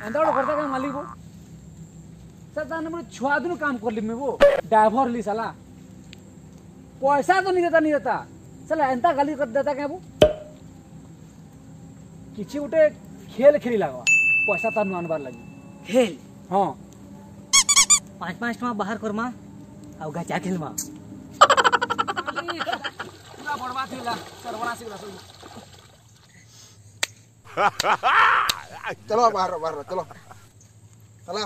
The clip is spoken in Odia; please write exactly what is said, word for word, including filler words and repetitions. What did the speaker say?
ଏନ୍ତା ଗୋଟେ କଥା କାଁ ମାଲିକ ସାର୍? ତାହେଲେ ମୁଇଁ ଛୁଆ ଦିନୁ କାମ କଲି ମୁଇଁ ବୋ, ଡ୍ରାଇଭର ଲି। ସାଲା ପଇସା ତ ନି ଦେତା ନି ଦେତା, ସାଲା ଏନ୍ତା ଗାଲି କରି ଦେତା କାଁ ବୋ? କିଛି ଗୋଟେ ଖେଲ ଖେଳି ଲାଗବା ପଇସା ତାର ନୁ ଆନବାର ଲାଗି। ଖେଲ? ହଁ। ପାଞ୍ଚ ପାଞ୍ଚ ଟଙ୍କା ବାହାର କରମା ଆଉ ଗାଚା ଖେଲମା। ପୁରା ବର୍ବାଦ ହେଇଗଲା, ସର୍ବନାଶ ହେଇଗଲା ସବୁ। चलो, बाहर बाहर चलो, चलो।